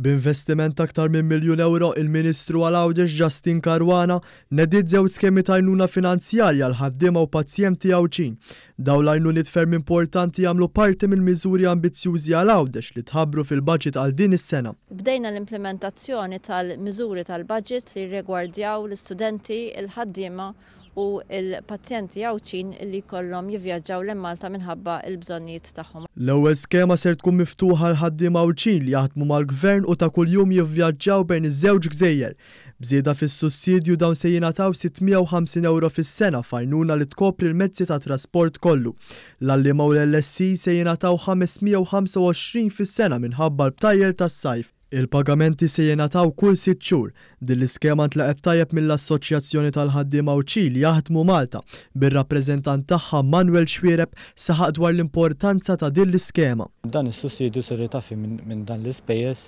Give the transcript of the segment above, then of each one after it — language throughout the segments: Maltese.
B'investiment ta' aktar minn miljun ewro, il-Ministru għal Għawdex Justyne Caruana nediet żewġ skemi ta' għajnuna finanzjarja għal ħaddiema u pazjenti Għawdxin. Dawn l-għajnuniet ferm importanti jagħmlu parti mill-miżuri ambizzjużi għal Għawdex li tħabbru fil-baġit għal din is-sena. Bdejna l-implimentazzjoni tal-miżuri tal-baġit li jirrigwardjaw l-istudenti, il-ħaddiema u l-pazjenti Għawdxin li jkollhom jivvjaġġaw lejn Malta minħabba l-bżonnijiet tagħhom. L-ewwel skema ser tkun miftuħa għal ħaddiema Għawdxin li jaħdmu mal-Gvern u ta' kuljum jivvjaġġaw bejn iż-żewġ gżejjer. B'żieda fis-sussidju dawn se jingħataw 650 ewro fis-sena f'għajnuna li tkopri l-mezzi ta' trasport kollu. L-għalliema u l-LSE se jingħataw 525 fis-sena minħabba l-btajjel tas-sajf. Il-pagamenti se jingħataw kull sitt xhur. Din l-iskema ntlaqgħet tajjeb mill-Assoċjazzjoni tal-Ħaddiema Għawdxin li jaħdmu Malta, bir-rappreżentant tagħha Manuel Xuereb saħaq dwar l-importanza ta' din l-iskema. Dan is-sussidju ser itaffi minn dan l-ispejjeż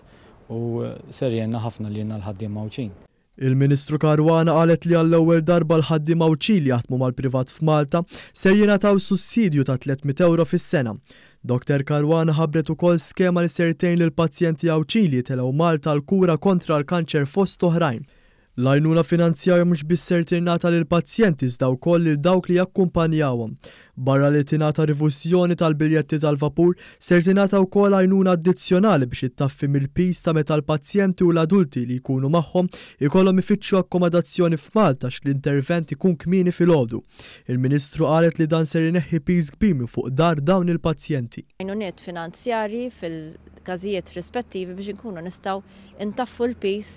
u ser jgħinna ħafna lilna l-ħaddiema Għawdxin. Il-Ministru Caruana qalet li għall-ewwel darba l-ħaddiema Għawdxin li jaħdmu mal-privat f'Malta ser jingħataw sussidju ta' 300 ewro fis-sena. Doctor Caruana ħabbret ukoll skema li ser tgħin lill-pazjenti Għawdxin li jitilgħu Malta għall-kura kontra l-kanċer fost oħrajn. L-għajnuna finanzjarja mhux biss ser tingħata lill-pazjenti iżda wkoll lil dawk li jakkumpanjawhom. Barra li tingħata rifużjoni tal-biljetti tal-vapur, ser tingħata wkoll għajnuna addizzjonali biex ittaffi mill-piż ta' meta l-pazjenti u l-adulti li jkunu magħhom ikollhom ifittxu akkomodazzjoni f'Malta għax l-intervent ikun kmieni filgħodu. Il-Ministru qalet li dan ser ineħħi piż kbir minn fuq dar dawn il-pazjenti. Għajnuniet finanzjarji fil-każijiet rispettivi biex inkunu nistgħu ntaffu l-piż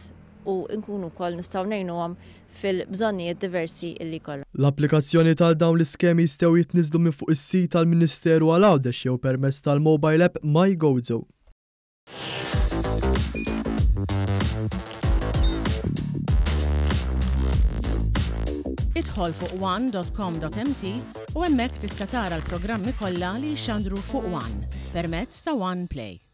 u nkunu wkoll nistgħu ngħinuhom fil-bżonnijiet diversi li jkollhom. L-applikazzjonijiet għal dawn l-iskemi jistgħu jitniżżlu minn fuq is-sit tal-Ministeru għal Għawdex jew permezz tal-mobile app MyGozo. Idħol fuq one.com.mt u hemmhekk tista' tara l-programmi kollha li jixxandru fuq One permezz ta' One Play.